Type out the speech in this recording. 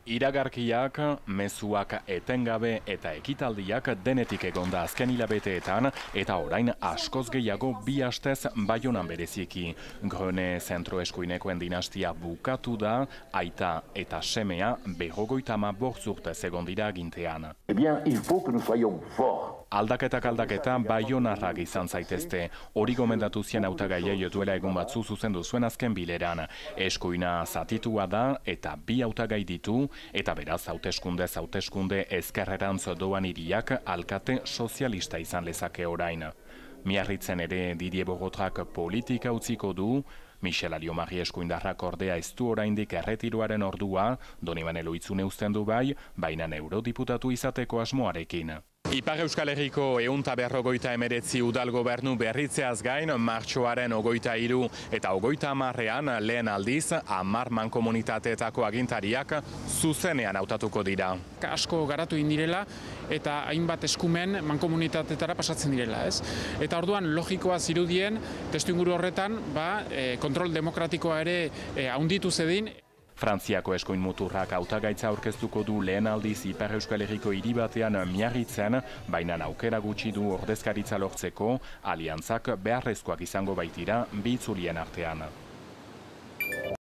Iragarkiak, mezuak etengabe eta ekitaldiak denetik egonda azken hilabeteetan eta orain askoz gehiago bi astez Baionan bereziki. Grone zentro eskuinekoen dinastia bukatu da, aita eta semea 55 urtez egon dira agintean. Eh bien, il faut que nous soyons forts. Aldaketa baionarrak izan zaitezte. Hori gomendatu zien hautagaiei duela egun batzu zuzendu zuen azken bileran. Eskuina zatitua da eta bi hautagai ditu, eta beraz hauteskunde ezkerrerantz doan hiriak alkate sozialista izan lezake orain. Miarritzen ere Didier Borotrak politika utziko du, Michel Aliomarri eskuindarrak ordea ez du oraindik erretiroaren ordua, Donibane Lohitzune uzten du bai, baina eurodiputatu izateko asmoarekin. Ipar Euskal Herriko 159 udal gobernu berritzeaz gain, martxoaren 23 eta 30ean lehen aldiz 10 mankomunitateetako agintariak zuzenean hautatuko dira. Asko garatu indirela eta hainbat eskumen mankomunitateetara pasatzen direla, ez? Eta orduan logikoa zirudien, testuinguru horretan, kontrol demokratikoa ere handitu zedin. Frantziako eskuin muturrak hautagaitza aurkeztuko du lehen aldiz Ipar Euskal Herriko hiri batean Miarritzen, baina aukera gutxi du ordezkaritza lortzeko, aliantzak beharrezkoak izango baitira bi itzulien artean.